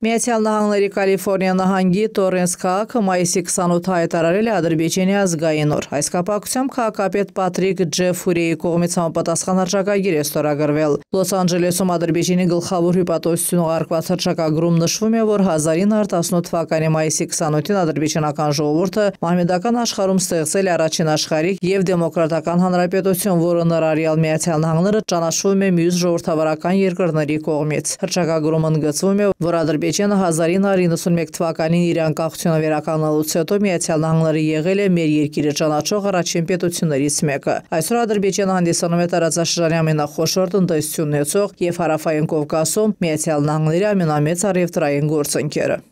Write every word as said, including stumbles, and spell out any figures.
Միացյալ Նահանգների Կալիֆորնիա նահանգի Տորենս քաղաքը մայիսի քսանութը հայտարարել է Ադրբեջանի ազգային օր։ Այս կապակցությամբ քաղաքապետ Պատրիկ Ջեֆուրիի կողմից համապատասխան հռչակագիր է ստորագրվել։ Լոս Անջելեսում Ադրբեջանի գլխավոր հյուպատոսություն ուղարկված հռչակագրում նշվում է, որ հազար ինը հարյուր տասնութ թվականի մայիսի քսանութին ադրբեջանական ժողովուրդը մահմեդական աշխարհում ստեղծել է առաջին աշխարհիկ եւ դեմոկրատական հանրապետություն, որը ներառյալ Միացյալ Նահանգները ճանաչվում է մյուս ժողովրդավարական երկրների կողմից։ Հռչակագրում ընդգծվում է, որ Ադրբեջանը հազար ինը հարյուր իննսունմեկ թվականին իր անկախությունը վերականգնելուց հետո Միացյալ Նահանգները եղել է մեր երկիրը ճանաչող առաջին պետություններից մեկը։ Այսօր Ադրբեջանը հանդիսանում է տարածաշրջանի ամենախոշոր տնտեսություն ունեցող եւ հարավային Կովկասում Միացյալ Նահանգների ամենամեծ առևտրային գործընկերը։